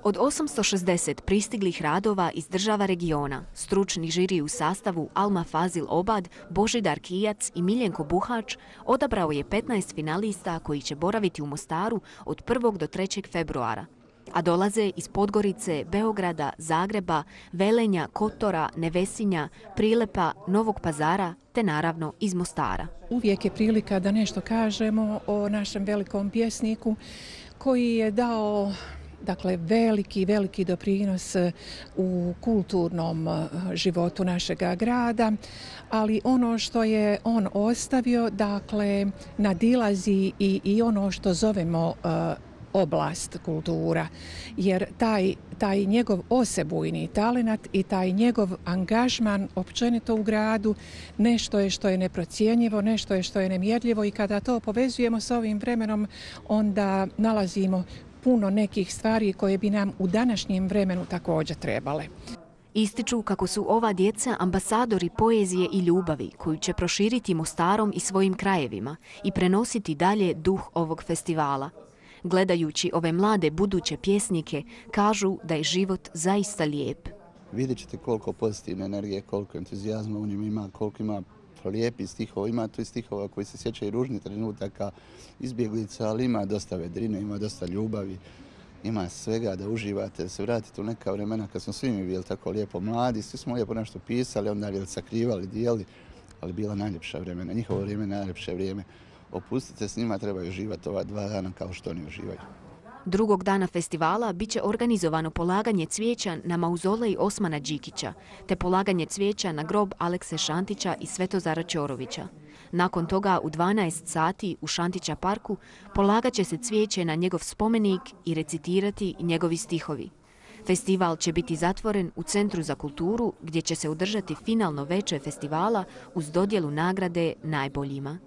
Od 860 pristiglih radova iz država regiona, stručni žiri u sastavu Alma Fazil Obad, Božidar Kijac i Miljenko Buhač odabrao je 15 finalista koji će boraviti u Mostaru od 1. do 3. februara, a dolaze iz Podgorice, Beograda, Zagreba, Velenja, Kotora, Nevesinja, Prilepa, Novog Pazara te naravno iz Mostara. Uvijek je prilika da nešto kažemo o našem velikom pjesniku koji je dao veliki doprinos u kulturnom životu našega grada, ali ono što je on ostavio, nadilazi i ono što zovemo oblast kultura, jer taj njegov osebujni talenat i taj njegov angažman općenito u gradu nešto je što je neprocjenjivo, nešto je što je nemjerljivo i kada to povezujemo s ovim vremenom, onda nalazimo puno nekih stvari koje bi nam u današnjem vremenu također trebale. Ističu kako su ova djeca ambasadori poezije i ljubavi koju će proširiti Mostarom i svojim krajevima i prenositi dalje duh ovog festivala. Gledajući ove mlade buduće pjesnike, kažu da je život zaista lijep. Vidjet ćete koliko pozitivne energije, koliko entuzijazma u njima ima, koliko ima lijepih stihova, ima tu i stihova koji se sjećaju ružnih trenutaka, izbjeglica, ali ima dosta vedrine, ima dosta ljubavi, ima svega da uživate, da se vratite u neka vremena kad smo svi mi bili tako lijepo mladi, svi smo lijepo nešto pisali, onda sakrivali, dijeli, ali bila najljepša vremena, njihovo vrijeme najljepše vrijeme. Opustite s njima, trebaju uživati ova 2 dana kao što oni uživaju. Drugog dana festivala biće organizovano polaganje cvijeća na mauzolej Osmana Đikića, te polaganje cvijeća na grob Alekse Šantića i Svetozara Ćorovića. Nakon toga u 12 sati u Šantića parku polagat će se cvijeće na njegov spomenik i recitirati njegovi stihovi. Festival će biti zatvoren u Centru za kulturu gdje će se održati finalno veče festivala uz dodjelu nagrade najboljima.